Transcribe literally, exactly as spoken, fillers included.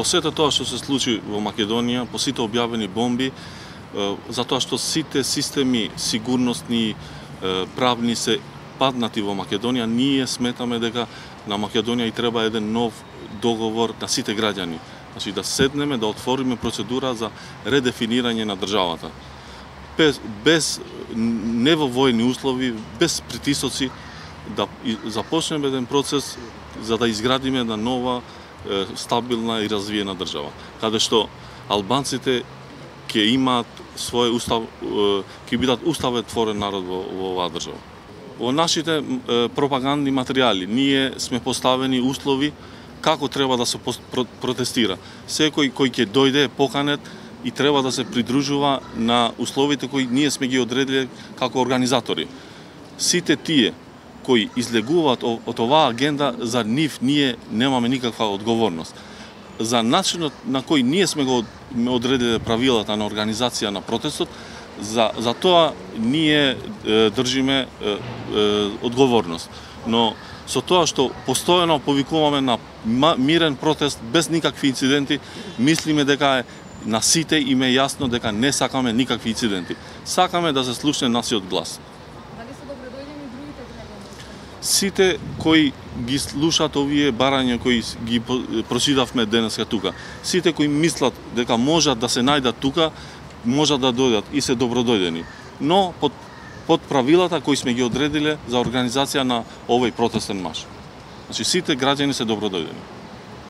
По сето тоа што се случи во Македонија, по сите објавени бомби, затоа што сите системи сигурностни, правни се паднати во Македонија, ние сметаме дека на Македонија и треба еден нов договор на сите граѓани. Значи да седнеме, да отвориме процедура за редефинирање на државата. Без, без не во војни услови, без притисоци, да започнеме еден процес за да изградиме една нова, стабилна и развиена држава, каде што албанците ќе имаат свој устав, ќе бидат уставотворен народ во, во оваа држава. Во нашите пропагандни материјали ние сме поставени услови како треба да се протестира. Секој кој ќе дојде поканет и треба да се придружува на условите кои ние сме ги одредиле како организатори. Сите тие кои излегуваат од оваа агенда, за нив ние немаме никаква одговорност. За начинот на кој ние сме го одредиле правилата на организација на протестот, за, за тоа ние е, држиме е, е, одговорност. Но со тоа што постојано повикуваме на мирен протест без никакви инциденти, мислиме дека е на сите им е јасно дека не сакаме никакви инциденти. Сакаме да се слушне насиот глас. Сите кои ги слушаат овие барања кои ги прочитавме денеска тука, сите кои мислат дека можат да се најдат тука, можат да дојдат и се добродојдени. Но под, под правилата кои сме ги одредиле за организација на овој протестен марш. Значи сите граѓани се добродојдени.